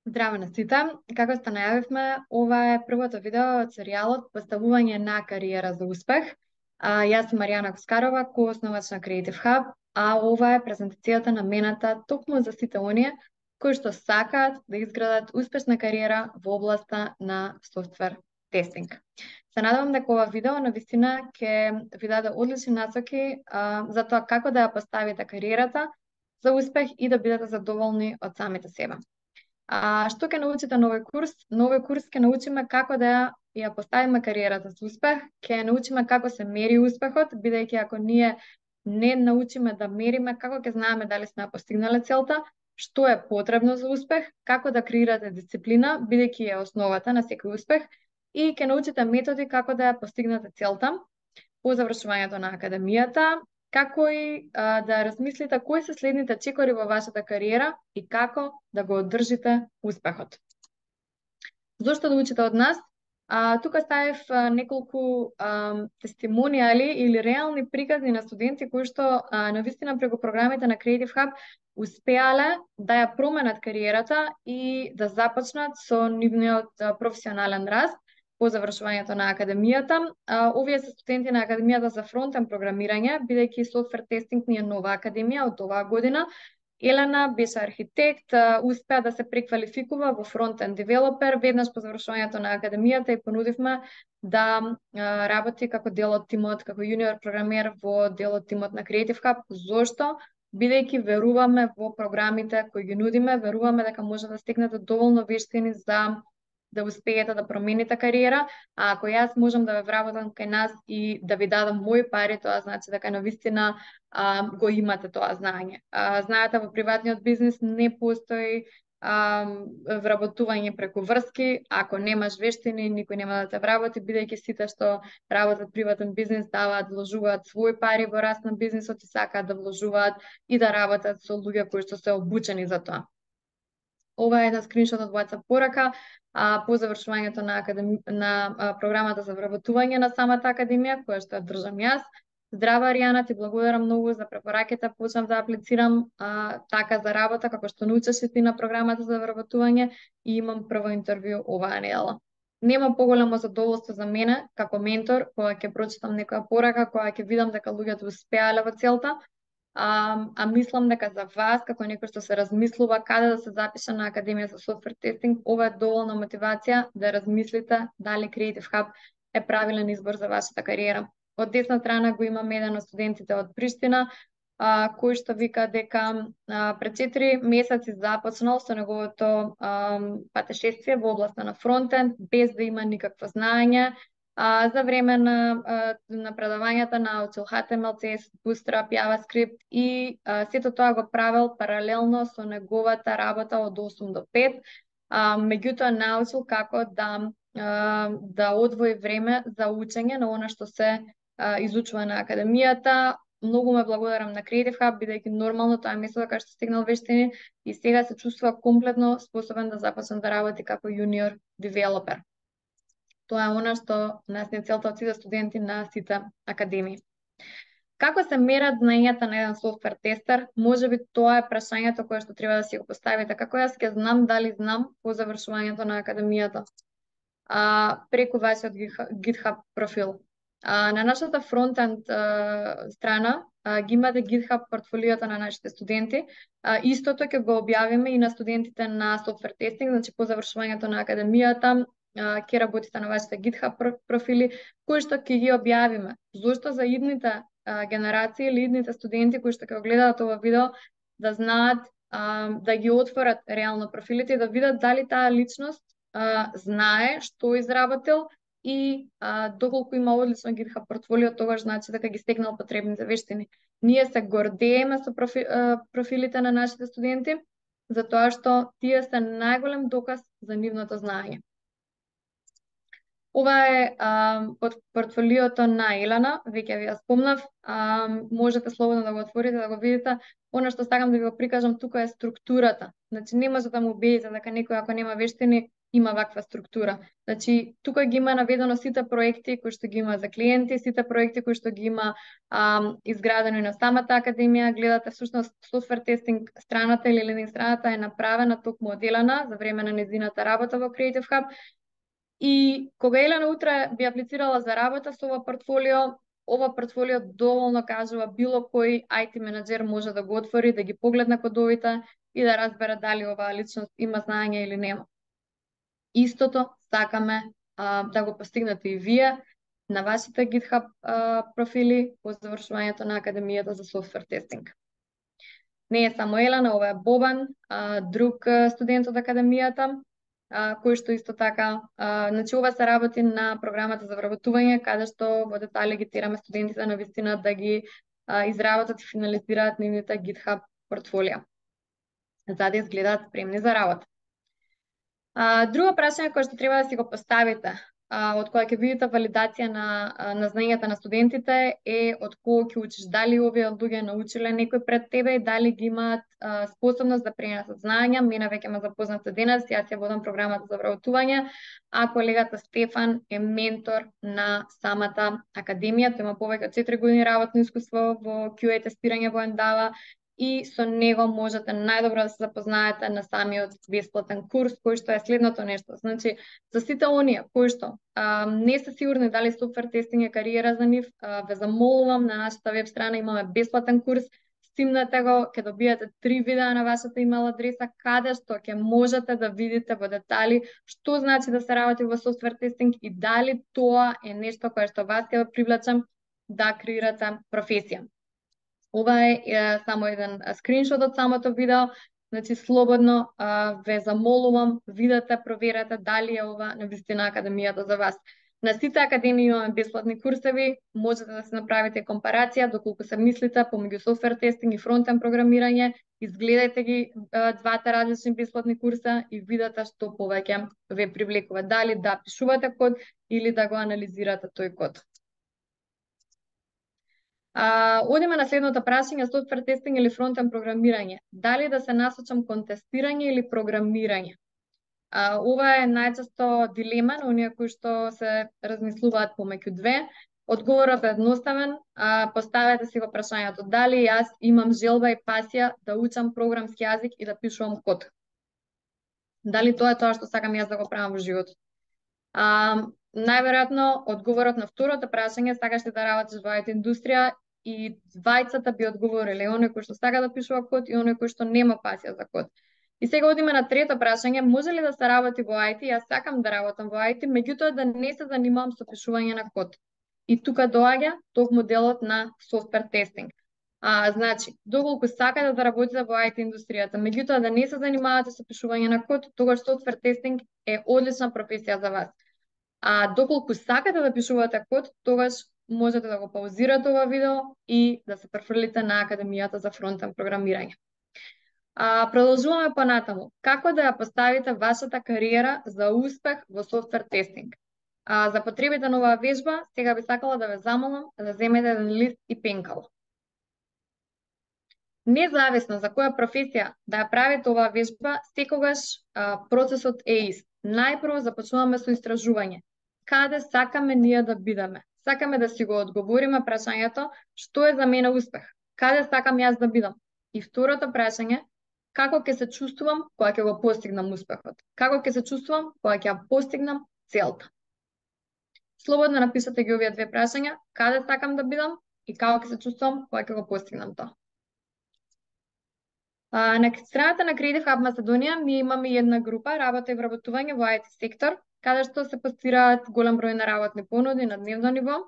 Здраво на сите. Како што најавивме, ова е првото видео од серијалот Поставување на кариера за успех. Јас сум Маријана Коскарова, коосновач на Creative Hub, а ова е презентацијата намената токму за сите оние кои што сакаат да изградат успешна кариера во областа на софтвер тестинг. Се надевам дека ова видео навистина ќе ви даде одлични насоки за тоа како да ја поставите кариерата за успех и да бидете задоволни од самите себе. Што ќе научите на овој курс? На овој курс ќе научиме како да ја поставиме кариерата за успех, ќе научиме како се мери успехот, бидејќи ако ние не научиме да мериме, како ќе знаеме дали сме ја постигнале целта, што е потребно за успех, како да креирате дисциплина, бидејќи е основата на секој успех, и ќе научите методи како да ја постигнете целта по завршувањето на академијата, како и да размислите кои се следните чекори во вашата кариера и како да го одржите успехот. Зошто да учите од нас? Тука ставив неколку тестимонијали или реални приказни на студенти кои што навистина преку програмите на Creative Hub успеале да ја променат кариерата и да започнат со нивниот професионален раст по завршувањето на академијата. Овие се студенти на Академијата за фронтенд програмирање, бидејќи софтвер тестинг ни е нова академија од оваа година. Елена беше архитект, успеа да се преквалификува во фронтенд девелопер веднаш по завршувањето на академијата и понудивме да работи како дел од тимот, како јуниор програмер во дел од тимот на Creative Hub. Зошто? Бидејќи веруваме во програмите кои ги нудиме, веруваме дека може да стекнете доволно вештини за да успеете да промените кариера, а ако јас можам да ве вработам кај нас и да ви дадам мои пари, тоа значи дека навистина го имате тоа знаење. Знаете, во приватниот бизнис не постои вработување преку врски. Ако немаш вештини, никој нема да те вработи, бидејќи сите што работат приватен бизнис вложуваат своји пари во раст на бизнисот и сакаат да вложуваат и да работат со луѓе кои што се обучени за тоа. Ова е една скриншот од WhatsApp порака по завршувањето на програмата за вработување на самата академија, која што ја држам јас. Здрава, Аријана, ти благодарам многу за препораките, почнав да аплицирам така за работа, како што научиш и ти на програмата за вработување и имам прво интервју оваа недела. Нема поголемо задоволство за мене, како ментор, кога ќе прочитам некоја порака, кога ќе видам дека луѓето успеале во целта, мислам дека за вас, како некој што се размислува каде да се запише на Академија за софтвер тестинг, ова е доволна мотивација да размислите дали Creative Hub е правилен избор за вашата кариера. Од десна страна го имам еден од студентите од Приштина, кој што вика дека пред 4 месеци започнал со неговото патешествие во областа на фронтенд, без да има никакво знаење. За време на предавањата научил HTML, CSS, Bootstrap, JavaScript и сето тоа го правил паралелно со неговата работа од 8 до 5. Меѓутоа научил како да одвои време за учење на она што се изучува на академијата. Многу ме благодарам на Creative Hub, бидејќи нормално тоа е место кај што стигнал вештини и сега се чувствува комплетно способен да започне да работи како јуниор девелопер. Тоа е она што нас не целта од сите студенти на сите академии. Како се мерат знаењата на еден софтвер тестер? Можеби тоа е прашањето кое што треба да си го поставите. Како јас ќе знам дали знам по завршувањето на академијата? Преку вашиот GitHub профил. На нашата фронтенд страна ги имате GitHub портфолиото на нашите студенти. Истото ќе го објавиме и на студентите на софтвер тестинг, значи по завршувањето на академијата ќе работите на вашите GitHub профили, кои што ќе ги објавиме. Зошто за идните генерации или идните студенти кои што ќе го гледаат ова видео да знаат да ги отворат реално профилите и да видат дали таа личност знае што изработил и доколку има одлично GitHub портфолио, тогаш значи дека ги стекнал потребните вештини. Ние се гордееме со профилите на нашите студенти, затоа што тие се најголем доказ за нивното знаење. Ова е портфолиото на Елена, веќе ви ја спомнав, можете слободно да го отворите, да го видите. Она што сакам да ви го прикажам тука е структурата. Значи не може да му убедите дека некој ако нема вештини има ваква структура. Значи, тука ги има наведено сите проекти кои што ги има за клиенти, сите проекти кои што ги има изградено и на самата академија. Гледате всушност софтвер тестинг страната или лендинг страната е направена токму оделана за време на нејзината работа во Creative Hub. И кога Елена утре би аплицирала за работа со ова портфолио доволно кажува било кој IT менеджер може да го отвори, да ги погледне кодовите и да разбере дали оваа личност има знаење или нема. Истото сакаме да го постигнете и вие на вашите GitHub профили по завршувањето на Академијата за софтвер тестинг. Не е само Елена, ова е Бобан, друг студент од Академијата, кој што исто така, значи ова се работи на програмата за вработување, каде што во детали ги тераме студентите на вистина да ги изработат и финализираат нивните GitHub портфолија, за да изгледаат спремни за работа. Друго прашање кое што треба да си го поставите, од кога ќе видите валидација на знаењата на студентите е од кого ќе учиш, дали овие луѓе научиле некој пред тебе и дали ги имаат способност да пренесат знаења. Мене веќе ме запознате денес, јас ја водам програмата за вработување, а колегата Стефан е ментор на самата академија. Тој има повеќе од 4 години работно искуство во QA тестирање во Endava и со него можете најдобро да се запознаете на самиот бесплатен курс, кој што е следното нешто. Значи, за сите оние кои што не се сигурни дали софтвер тестинг е кариера за нив, ве замолувам, на нашата веб страна имаме бесплатен курс, стимнете го, ќе добиете 3 видеа на вашата имейл адреса, каде што ќе можете да видите во детали што значи да се работи во софтвер тестинг и дали тоа е нешто кое што вас ќе ве привлече да креирате професија. Ова е само еден скриншот од самото видео, значи слободно ве замолувам, видете, проверете дали е ова навистина академијата за вас. На сите академии имаме бесплатни курсеви, можете да се направите компарација доколку се мислите помеѓу софтвер тестинг и фронтен програмирање, изгледајте ги двата различни бесплатни курса и видете што повеќе ве привлекува, дали да пишувате код или да го анализирате тој код. Одиме на следното прашање, софтвер тестинг или фронтен програмирање. Дали да се насочам кон тестирање или програмирање? Ова е најчесто дилема на оние кои што се размислуваат помеѓу две. Одговорот е едноставен, поставете си го прашањето дали јас имам желба и пасија да учам програмски јазик и да пишувам код. Дали тоа е тоа што сакам јас да го правам во животот? Најверојатно одговорот на второто прашање, сакаш ли да работиш во IT индустрија, и двајцата би одговориле, оној кој што сака да пишува код и оној кој што нема пасија за код. И сега одиме на трето прашање, може ли да се работи во IT? Јас сакам да работам во IT, меѓутоа да не се занимавам со пишување на код. И тука доаѓа токму делот на софтвер тестинг. Значи, доколку сакате да работите во IT индустријата, меѓутоа да не се занимавате со пишување на код, тогаш софтвер тестинг е одлична професија за вас. Доколку сакате да пишувате код, тогаш можете да го паузирате ова видео и да се префрлите на Академијата за фронтен програмирање. Продолжуваме понатаму. Како да ја поставите вашата кариера за успех во софтвер тестинг? За потребите на оваа вежба, сега би сакала да ве замолам да земете еден лист и пенкало. Независно за која професија да ја правите оваа вежба, секогаш процесот е ист. Најпрво започнуваме со истражување. Каде сакаме ние да бидеме? Сакаме да си го одговориме прашањето што е за мене успех? Каде сакам јас да бидам? И второто прашање, како ќе се чувствувам кога ќе го постигнам успехот? Како ќе се чувствувам кога ќе ја постигнам целта? Слободно напишете ги овие две прашања, каде сакам да бидам и како ќе се чувствувам кога ќе го постигнам тоа. На страната на Creative Hub Македонија ние имаме една група работа и вработување во IT сектор, каде што се постираат голем број на работни понуди на дневно ниво.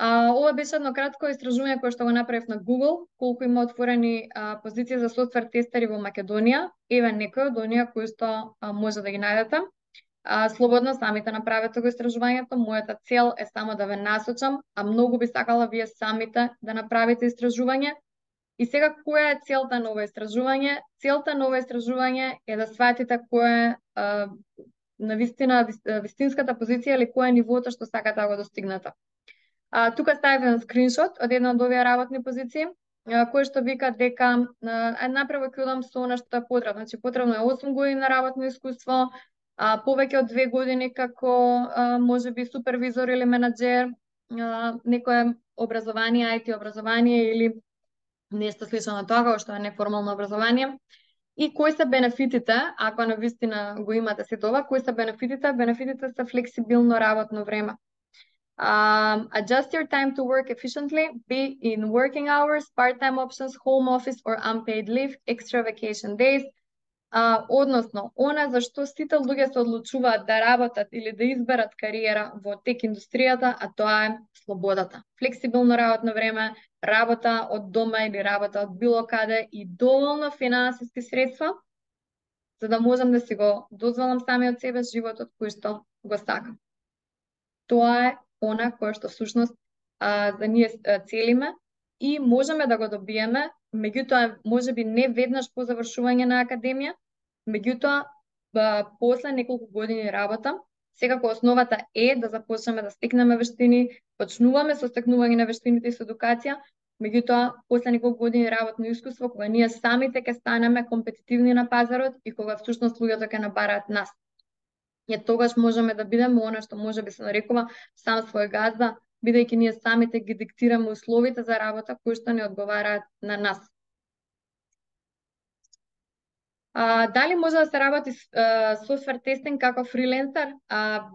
Ова беше едно кратко истражување кое што го направив на Google, колку има отворени позиции за софтвер тестери во Македонија. Еве некои од оние кои што може да ги најдете. Слободно самите направете го истражувањето. Мојата цел е само да ве насочам, а многу би сакала вие самите да направите истражување. И сега, која е целта на ова истражување? Целта на ова истражување е да сватите која е навистина вистинската позиција или која е нивото што сакате да го достигнете. Тука ставив еден скриншот од една од овие работни позиции. кој што вика дека направо ќе одам со она што е потребно. Значи потребно е 8 години на работно искуство, повеќе од 2 години како можеби супервизор или менаџер, некое образование, IT образование или нешто слично на тоа, што е неформално образование. И кои се бенефитите, ако навистина го имате сето ова, кои се бенефитите? Бенефитите се флексибилно работно време. Adjust your time to work efficiently, be in working hours, part-time options, home office or unpaid leave, extra vacation days. Односно, она за што сите луѓе се одлучуваат да работат или да изберат кариера во тек индустријата, а тоа е слободата. Флексибилно работно време, работа од дома или работа од било каде и доволно финансиски средства за да можам да си го дозволам самиот себе животот кој што го сакам. Тоа е она кое што всушност за ние целиме и можеме да го добиеме, меѓутоа можеби не веднаш по завршување на академија, меѓутоа после неколку години работа, секако основата е да започнеме да стекнеме вештини, почнуваме со стекнување на вештините и со едукација, меѓутоа после неколку години работно искуство, кога ние самите ќе станеме компетитивни на пазарот и кога всушност луѓето ќе набараат нас. Тогаш можеме да бидеме она што може би се нарекува сам свој газда, бидејќи ние самите ги диктираме условите за работа кои што не одговараат на нас. Дали може да се работи софтвер тестинг како фриленсер?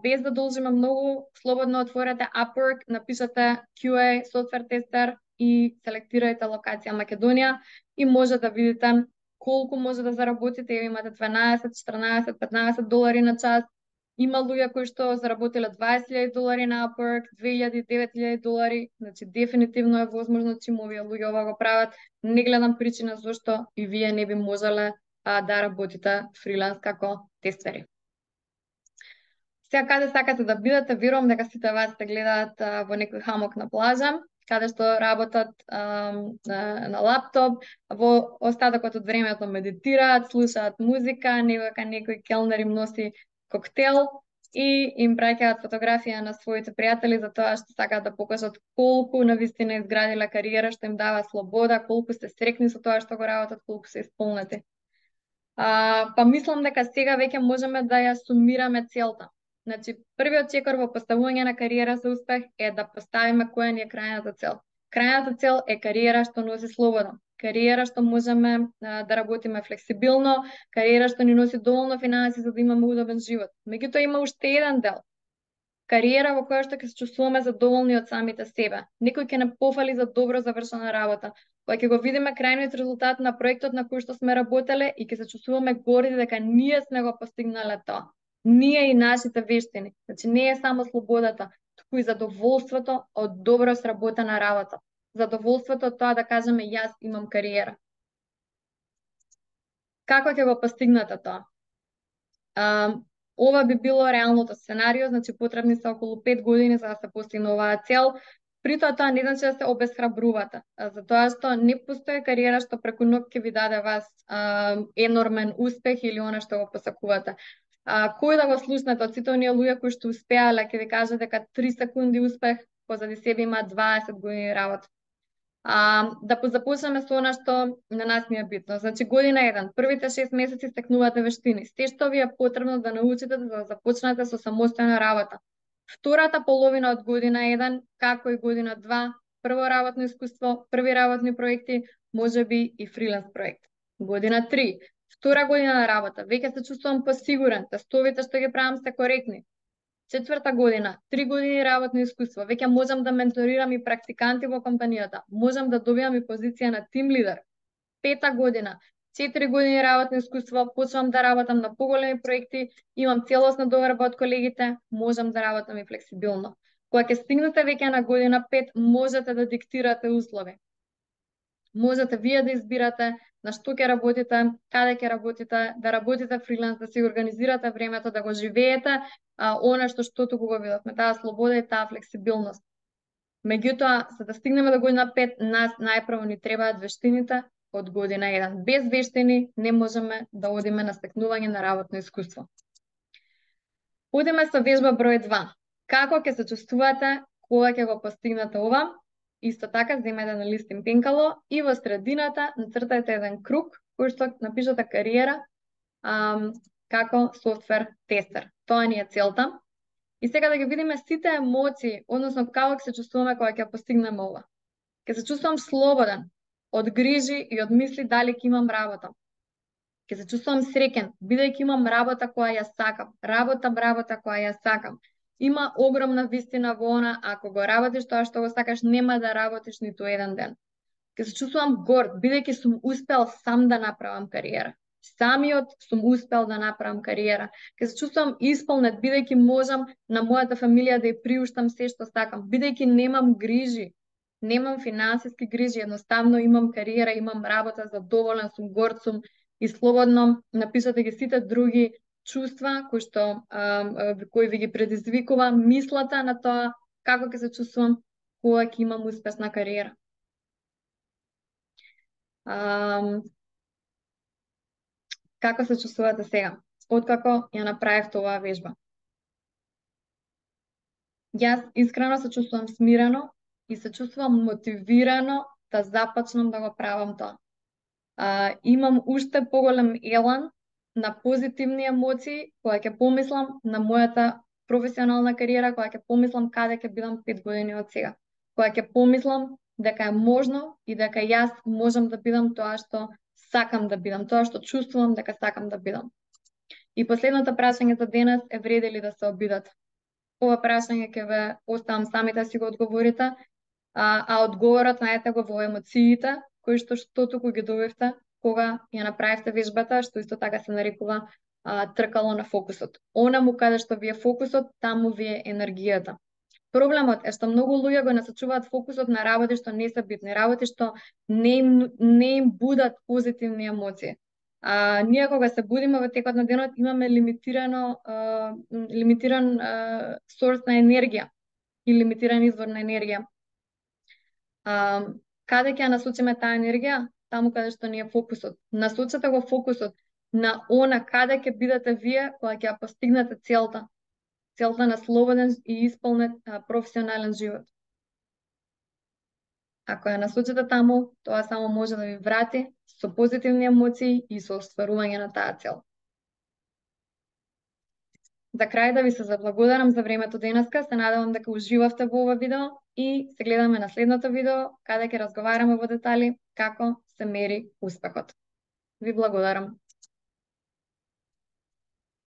Без да должиме многу, слободно отворете Upwork, напишете QA софтвер тестер и селектирајте локација Македонија и може да видите колку може да заработите. Имате 12, 14, 15 долари на час. Има луѓе кои што заработиле $20,000 на Upwork, 2,000, 9,000 долари, значи дефинитивно е возможно чим овие луѓе ова го прават. Не гледам причина зашто и вие не би можеле да работите фриланс како тестери. Сега каде сакате да бидете, верувам дека сите вас те гледаат во некој хамок на плажа, каде што работат на лаптоп, во остатокот од времето медитираат, слушаат музика, некој келнер им носи коктел и им праќаат фотографија на своите пријатели за тоа што сакаат да покажат колку навистина изградиле кариера, што им дава слобода, колку се срекни со тоа што го работат, колку се исполнети. Па мислам дека сега веќе можеме да ја сумираме целта. Значи, првиот чекор во поставување на кариера за успех е да поставиме која ни е крајната цел. Крајната цел е кариера што носи слобода, кариера што можеме да работиме флексибилно, кариера што ни носи доволно финанси за да имаме удобен живот. Меѓутоа има уште еден дел. Кариера во која што ќе се чувствуваме задоволни од самите себе. Некој ќе не пофали за добро завршена работа, кога ќе го видиме крајниот резултат на проектот на кој што сме работеле и ќе се чувствуваме горди дека ние сме го постигнале тоа. Ние и нашите вештини. Значи не е само слободата, туку и задоволството од добро сработена работа. Задоволството од тоа да кажеме јас имам кариера. Како ќе го постигнете тоа? Ова би било реалното сценарио, значи потребни се околу 5 години за да се постигне оваа цел. При тоа не значи да се обесхрабрувате, затоа што не постои кариера што преку ноќ ќе ви даде вас енормен успех или она што го посакувате. Кој да го слушнете од сите оние луѓе кои што успеале, ќе ви кажат дека 3 секунди успех позади себе има 20 години работа. Да започнеме со она што на нас ни е битно. Значи година 1, првите 6 месеци стекнувате вештини. Сте што ви е потребно да научите да започнете со самостојна работа. Втората половина од година 1, како и година 2, прво работно искуство, први работни проекти, можеби и фриланс проект. Година 3, втора година на работа, веќе се чувствувам посигурен, тестовите што ги правам се коректни. Четврта година, 3 години работно искуство, веќе можам да менторирам и практиканти во компанијата, можам да добијам и позиција на тим лидер. Пета година, 4 години работно искуство, почнувам да работам на поголеми проекти, имам целосна доверба од колегите, можам да работам и флексибилно. Кога ќе стигнете веќе на година 5, можете да диктирате услови. Можете вие да избирате на што ќе работите, каде ќе работите, да работите фриланс, да си организирате времето, да го живеете, она што туку го видовме, таа слобода и таа флексибилност. Меѓутоа, за да стигнеме до година 5, нас најпрво ни требаат вештините од година 1. Без вештини не можеме да одиме на стекнување на работно искуство. Одиме со вежба број 2. Како ќе се чувствувате кога ќе го постигнете ова? Исто така, земете на листин пенкало и во средината нацртајте еден круг кој што напишете кариера како софтвер тестер. Тоа ни е целта. И сега да ги видиме сите емоции, односно како се чувствуваме кога ќе постигнеме ова. Ќе се чувствувам слободен од грижи и од мисли дали ќе имам работа. Ќе се чувствувам среќен, бидејќи имам работа која ја сакам. Работа која ја сакам. Има огромна вистина во она, ако го работиш тоа што го сакаш, нема да работиш ниту еден ден. Ќе се чувствувам горд, бидејќи сум успел сам да направам кариера. Самиот сум успел да направам кариера. Ќе се чувствувам исполнет, бидејќи можам на мојата фамилија да ја приуштам се што сакам, бидејќи немам грижи, немам финансиски грижи, едноставно имам кариера, имам работа, задоволен сум, горд сум и слободно напишете ги сите други чувства кои ви ги предизвикува мислата на тоа како ќе се чувствувам кога ќе имам успешна кариера. Како се чувствувате сега, откако ја направивте оваа вежба? Јас искрено се чувствувам смирено и се чувствувам мотивирано да започнам да го правам тоа. Имам уште поголем елан на позитивни емоции кога ќе помислам на мојата професионална кариера, кога ќе помислам каде ќе бидам 5 години од сега. Кога ќе помислам дека е можно и дека јас можам да бидам тоа што сакам да бидам, тоа што чувствувам дека сакам да бидам. И последното прашање за денес е вреди ли да се обидат? Ова прашање ќе ве оставам сами да си го одговорите, а одговорот најдете го во емоциите кои што туку ги добивте кога ја направивте вежбата, што исто така се нарекува тркало на фокусот. Онаму каде што ви е фокусот, таму ви е енергијата. Проблемот е што многу луѓе го насочуваат фокусот на работи што не се битни, работи што не им будат позитивни емоции. Ние кога се будиме во текот на денот имаме лимитиран сорс на енергија и лимитиран извор на енергија. Каде ќе насочиме таа енергија? Таму каде што ни е фокусот. Насочете го фокусот на она каде ќе бидете вие кога ќе постигнете целта на слободен и исполнет професионален живот. Ако ја насочите таму, тоа само може да ви врати со позитивни емоции и со остварување на таа цел. За крај да ви се заблагодарам за времето денеска, се надевам дека уживавте во ова видео и се гледаме на следното видео, каде ќе разговараме во детали како се мери успехот. Ви благодарам.